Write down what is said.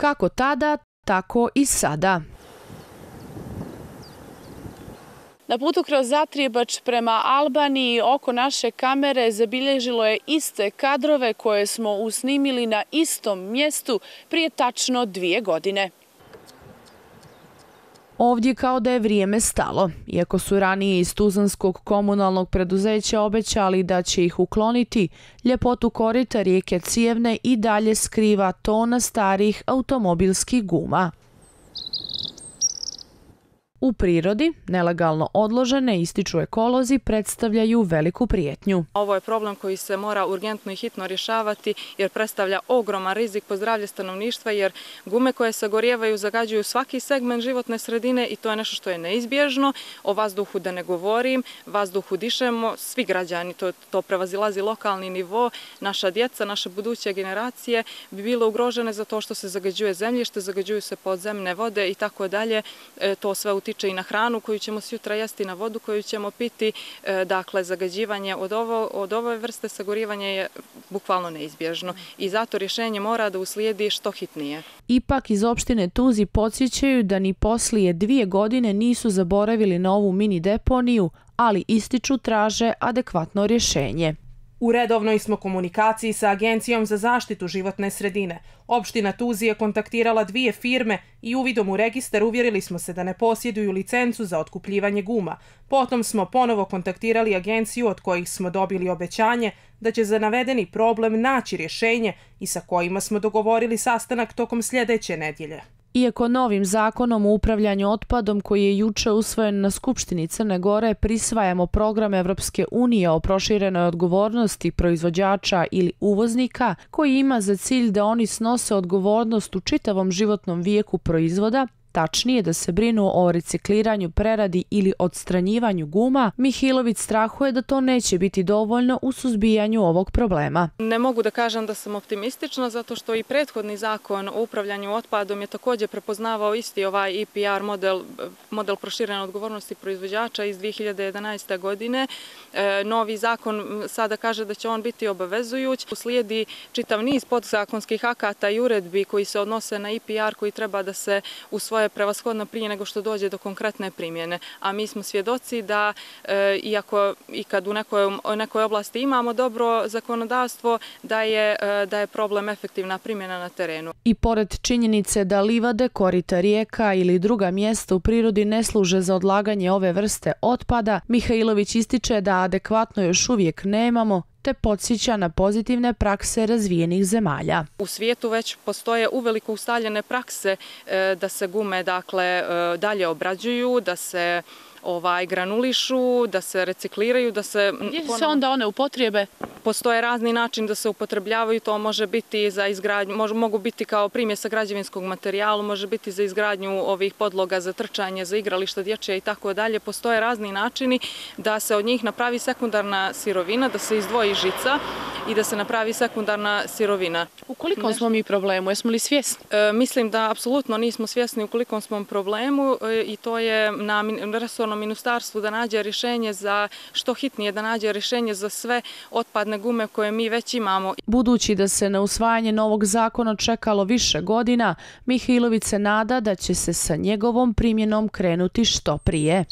Kako tada, tako i sada. Na putu kroz Zatrijebač prema Albaniji oko naše kamere zabilježilo je iste kadrove koje smo usnimili na istom mjestu prije tačno 2 godine. Ovdje kao da je vrijeme stalo, iako su ranije iz tuzlanskog komunalnog preduzeća obećali da će ih ukloniti, ljepotu korita rijeke Cijevne i dalje skriva tona starih automobilskih guma. U prirodi, nelegalno odložene, ističu ekolozi, predstavljaju veliku prijetnju. Ovo je problem koji se mora urgentno i hitno rješavati jer predstavlja ogroman rizik po zdravlje stanovništva jer gume koje sagorijevaju zagađuju svaki segment životne sredine i to je nešto što je neizbježno. O vazduhu da ne govorim, vazduhu dišemo, svi građani, to prevazilazi lokalni nivo, naša djeca, naše buduće generacije bi bile ugrožene za to što se zagađuje zemljište, zagađuju se podzemne vode i tako dalje. To sve utiče i na hranu koju ćemo sutra jesti, na vodu koju ćemo piti. Dakle, zagađivanje od ove vrste sagorivanja je bukvalno neizbježno i zato rješenje mora da uslijedi što hitnije. Ipak iz opštine Tuzi podsjećaju da ni poslije 2 godine nisu zaboravili na ovu mini deponiju, ali ističu traže adekvatno rješenje. U redovnoj smo komunikaciji sa Agencijom za zaštitu životne sredine. Opština Tuzi je kontaktirala 2 firme i uvidom u registar uvjerili smo se da ne posjeduju licencu za otkupljivanje guma. Potom smo ponovo kontaktirali agenciju od kojih smo dobili obećanje da će za navedeni problem naći rješenje i sa kojima smo dogovorili sastanak tokom sljedeće nedjelje. Iako novim zakonom o upravljanju otpadom koji je juče usvojen na Skupštini Crne Gore prisvajamo program Evropske unije o proširenoj odgovornosti proizvođača ili uvoznika koji ima za cilj da oni snose odgovornost u čitavom životnom vijeku proizvoda, tačnije da se brinu o recikliranju, preradi ili odstranjivanju guma, Mihilović strahuje da to neće biti dovoljno u suzbijanju ovog problema. Ne mogu da kažem da sam optimistična zato što i prethodni zakon o upravljanju otpadom je također prepoznavao isti ovaj EPR model proširene odgovornosti proizvođača iz 2011. godine. Novi zakon sada kaže da će on biti obavezujuć. Uslijedi čitav niz podzakonskih akata i uredbi koji se odnose na EPR koji treba da se usvoje prevashodno prije nego što dođe do konkretne primjene. A mi smo svjedoci da iako i kad u nekoj oblasti imamo dobro zakonodavstvo, da je problem efektivna primjena na terenu. I pored činjenice da livade, korita rijeka ili druga mjesta u prirodi ne služe za odlaganje ove vrste otpada, Mihajlović ističe da adekvatno još uvijek nemamo, te podsjeća na pozitivne prakse razvijenih zemalja. U svijetu već postoje uveliko ustaljene prakse da se gume dalje obrađuju, da se granulišu, da se recikliraju, da se... Gdje se onda one upotrijebe? Postoje razni način da se upotrebljavaju, to može biti za izgradnju, mogu biti kao primjesa građevinskog materijala, može biti za izgradnju ovih podloga za trčanje, za igrališta dječje i tako dalje. Postoje razni načini da se od njih napravi sekundarna sirovina, da se izdvoji žica i da se napravi sekundarna sirovina. U kolikom smo mi problemu? Jesmo li svjesni? Mislim da apsolutno nismo svjesni u kolikom smo problemu i to je na resornom ministarstvu da nađe rješenje za što hitnije, da nađe rješenje za sve otpadne gume koje mi već imamo. Budući da se na usvajanje novog zakona čekalo više godina, Mihajlović se nada da će se sa njegovom primjenom krenuti što prije.